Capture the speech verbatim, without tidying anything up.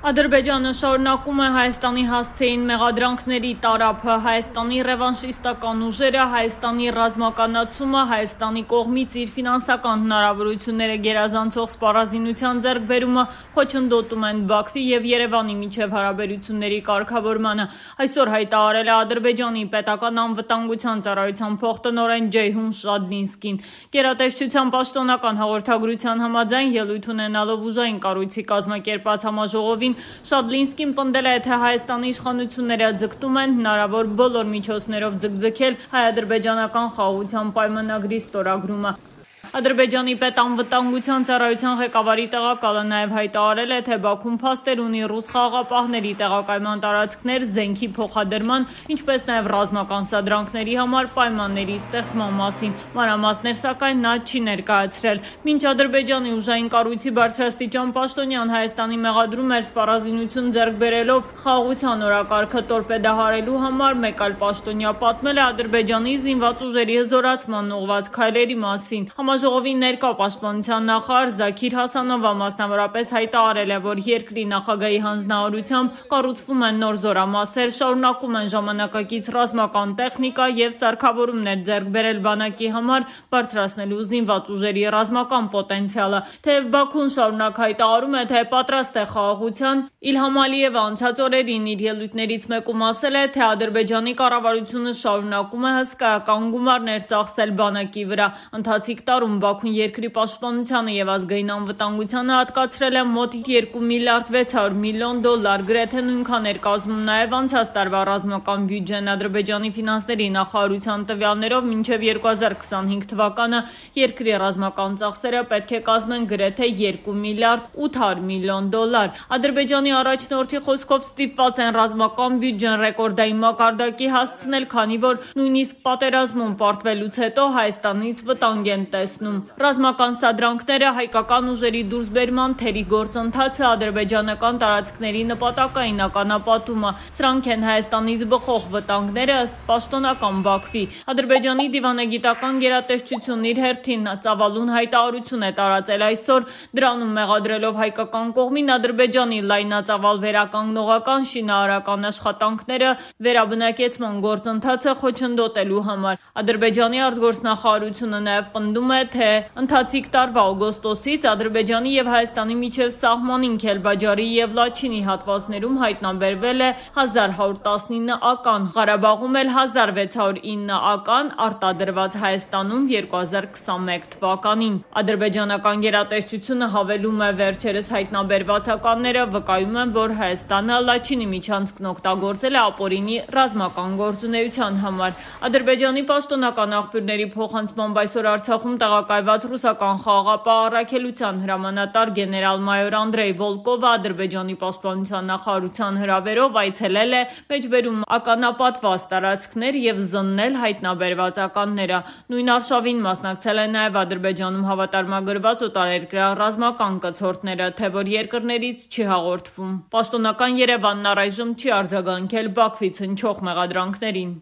Ադրբեջանը շարունակում է Հայաստանի հասցեին մեղադրանքների տարափը, Հայաստանի ռևանշիստական ուժերը, Հայաստանի ռազմականացումը, Հայաստանի կողմից իր ֆինանսական հնարավորությունները գերազանցող սպառազինության ձեռքբերումը խոչընդոտում են Բաքվի և Երևանի միջև հարաբերությունների կարգավորմանը։ Այսօր հայտարարել է Ադրբեջանի պետական անվտանգության ծառայության փոխտնօրեն Ջեյհուն Շադլինսկին։ Գերատեսչության պաշտոնական հաղորդագրության համաձայն ելույթ ունենալով ուժային կառույցի կազմակերպած համաժողովին Շադլինսկին պնդել է, թե Հայաստանի իշխանությունները ձգտում են հնարավոր բոլոր միջոցներով ձգձգել հայ-ադրբեջանական խաղաղության պայմանագրի ստորագրումը։ Ադրբեջանի պետանվտանգության ծառայության ղեկավարի տեղակալը նաև հայտարարել է, թե Բաքուն փաստեր ունի ռուս խաղաղապահների տեղակայման տարածքներ զենքի փոխադրման, ինչպես նաև ռազմական սադրանքների համար պայմանների ստեղծման մասին։ Մանրամասներ, սակայն, նա չի ներկայացրել։ Մինչ Ադրբեջանի ուժային կառույցի բարձրաստիճան պաշտոնյան Հայաստանի մեղադրում էր սպառազինություն ձեռք բերելով խաղաղության օրակարգը տորպեդահարելու համար, մեկ այլ պաշտոնյա պատմել է Ադրբեջանի զինված ուժերի հզորացման ուղղված քայլերի մասին։ Համաժողովի ներկա պաշտպանության նախարար Զաքիր Հասանովը մասնավորապես հայտարարել է, որ երկրի նախագահի հանձնարարությամբ կառուցվում են նոր զորամասեր, շարունակում են ժամանակակից ռազմական տեխնիկա և սարքավորումներ ձեռք բերել բանակի համար, բարձրացնելու զինված ուժերի ռազմական պոտենցիալը։ Թեև Բաքուն շարունակ հայտարարում է, թե պատրաստ է խաղաղության, Իլհամ Ալիևը անցած օրերին իր ելույթներից մեկում ասել է, թե Ադրբեջանի կառավարությունը շարունակում է հսկայական գումարներ ծախսել բանակի վրա։ Ընթացիկ տարում Բաքուն երկրի պաշտպանությանը և ազգային անվտանգությանը հատկացրել է մոտ երկու միլիարդ վեց հարյուր միլիոն դոլար, գրեթե նույնքան էր կազմում նաև անցած տարվա ռազմական բյուջեն։ Ադրբեջանի ֆինանսների նախարարության տվյալներով մինչև երկու հազար քսանհինգ թվականը երկրի ռազմական ծախսերը պետք է կազմեն գրեթե երկու միլիարդ ութ հարյուր միլիոն դոլար։ Ադրբեջանի առաջնորդի խոսքով ստիպված են ռազմական բյուջեն ռեկորդային մակարդակի հասցնել, քանի որ նույնիսկ պատերազմում պարտվելուց հետո Հայաստանից վտանգ են տեսնում։ Ռազմական սադրանքները, հայկական ուժերի դուրսբերման թերի գործընթացը, ադրբեջանական տարածքների նպատակային ականապատումը, սրանք են Հայաստանից բխող վտանգները ըստ պաշտոնական Բաքվի։ Ադրբեջանի դիվանագիտական գերատեսչությունն իր հերթին ծավալուն հայտարարություն է տարածել այսօր, դրանում մեղադրելով հայկական կողմին Ադրբեջանի լայնածավալ վերականգնողական շինարարական աշխատանքները վերաբնակեցման գործընթացը խոչընդոտելու համար։ Ադրբեջանի արտգործնախարարությունը նաև պնդում է, թե ընթացիկ տարվա օգոստոսից Ադրբեջանի և Հայաստանի միջև սահմանին Քելբաջարի և Լաչինի հատվածներում հայտնաբերվել է հազար հարյուր տասնինը ական, Ղարաբաղում էլ հազար վեց հարյուր ինը ական, արտադրված Հայաստանում երկու հազար քսանմեկ թվականին։ Ադրբեջանական գերատեսչությունը հավելում է, վերջերս հայտնաբերված ականները վկայում են, որ Հայաստանը Լաչինի միջանցքն օգտագործել է ապօրինի ռազմական գործունեության համար։ Ադրբեջանի պաշտոնական աղբյուրների փոխանցմամբ այսօր Արցախում տեղակայված ռուսական խաղաղապահ առաքելության հրամանատար գեներալ-մայոր Անդրեյ Վոլկովը Ադրբեջանի պաշտպանության նախարարության հրավերով այցելել է մեջբերում ականապատված տարածքներ և զննել հայտնաբերված ականները։ Նույն արշավին մասնակցել են նաև Ադրբեջանում հավատարմագրված օտարերկրյա ռազմական կցորդները, թե որ երկրներից չի հաղորդվում։ Պաշտոնական Երևանն առայժմ չի արձագանքել Բաքվից հնչող մեղադրանքներին։